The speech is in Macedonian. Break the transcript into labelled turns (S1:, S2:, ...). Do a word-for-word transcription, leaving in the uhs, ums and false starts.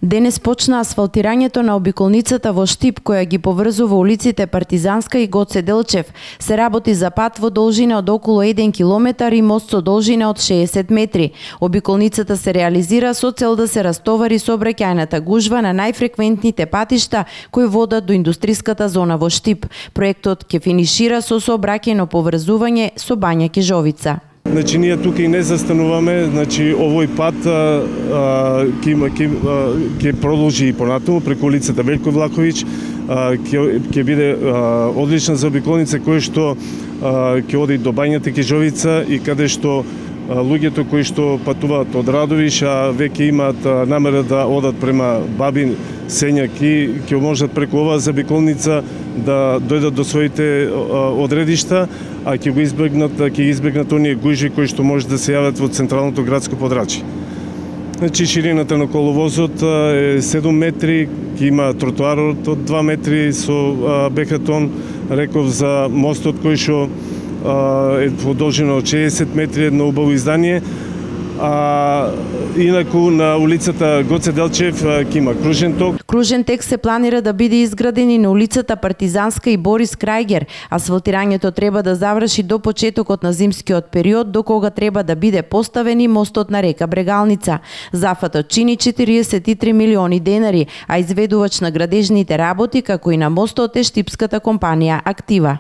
S1: Денес почна асфалтирањето на обиколницата во Штип, која ги поврзува улиците Партизанска и Гоце Делчев. Се работи за пат во должина од околу еден километар и мост со должина од шеесет метри. Обиколницата се реализира со цел да се растовари сообраќајната гужва на најфреквентните патишта кои водат до индустриската зона во Штип. Проектот ќе финишира со сообраќајно поврзување со Бања Кежовица.
S2: Значи ние тука и не застануваме, значи овој пат ќе ќе ќе продолжи и понатаму преку улицата Велјко Влаховиќ, ќе ќе биде а, одлична за обиколница која што ќе оди до Бањата Кежовица и каде што а, луѓето кои што патуваат од Радовиш, а веќе имаат а, намера да одат према Бабин, Сењак и ќе можат преку оваа забиколница да дојдат до своите а, одредишта, а ќе го избегнат, ќе избегнат оние гужви кои што може да се јават во централното градско подрачје. Значи ширината на коловозот е седум метри, ќе има тротоарот од два метри со бехатон, реков за мостот кој што е во должина од шеесет метри, едно убаво издание. А инаку на улицата Гоце Делчев ќе има кружен ток.
S1: Кружен тек се планира да биде изграден и на улицата Партизанска и Борис Крајгер. Асфалтирањето треба да заврши до почетокот на зимскиот период, до кога треба да биде поставен и мостот на река Брегалница. Зафатот чини четириесет и три милиони денари, а изведувач на градежните работи како и на мостот е штипската компанија Актива.